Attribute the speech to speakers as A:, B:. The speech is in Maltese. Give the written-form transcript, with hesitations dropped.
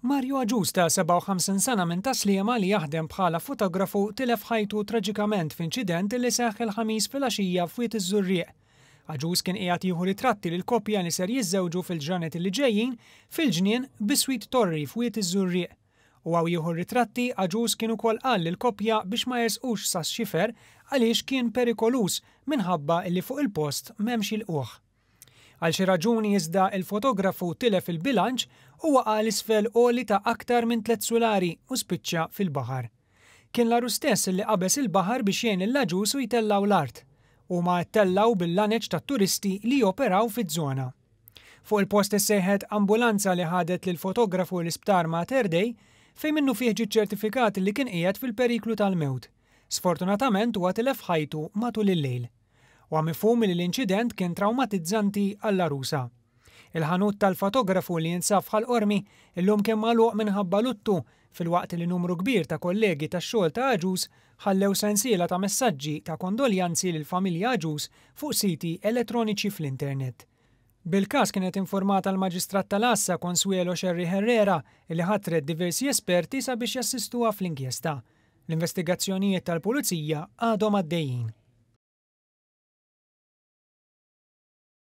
A: Mario Agius ta' 57 sena minn Tas-Sliema li jaħdem bħala fotografu tilef ħajtu traġikament f'inċident li seħħ il-Ħamis filgħaxija f'Wied iż-Żurrieq. Agius kien qiegħed jieħu ritratti lil koppja li ser jiżżewġu fil-ġranet li ġejjin fil-ġnien biswit Torri f'Wied iż-Żurrieq. U hawn jieħu r-ritratti Agius kien ukoll qal lill-koppja biex ma jersqux sax-xifer għaliex kien perikoluż minħabba li fuq il-post m'hemmx ilqugħ. Għal xi raġuni iżda il-fotografu tilef il-bilanċ u waqa' 'l isfel għoli ta' aktar minn tliet sulari u spiċċa fil-baħar. Kien l-għarus stess li qabeż il-baħar biex jgħin lil Agius u jtellgħu l-art. Huma ttellgħu bil-laneċ tat-turisti li joperaw fiż-żona. Fuq il-post issejħet ambulanza li ħadet lill-fotografu l-Isptar Mater Dei fejn minnufih ġie ċċertifikat li kien qiegħed fil-periklu tal-mewt. Sfortunatament huwa tilef ħajtu matul il-lejl. Huwa mifhum li l-inċident kien trawmatizzanti għall-għarusa. Il-ħanut tal-fotografu li jinsab f'Ħal Qormi illum kien magħluq minħabba luttu filwaqt li numru kbir ta' kollegi tax-xogħol ta' Agius ħallew sensiela ta' messaġġi ta' kondoljanzi lill-familja Agius fuq siti elettroniċi fl-internet. Bil-każ kienet informata l-Maġistrat tal-Għassa Consuelo Scerri Herrera li ħatret diversi esperti sabiex jassistuha fl-inkjesta. L-investigazzjonijiet tal-Pulizija għadhom għaddejjin.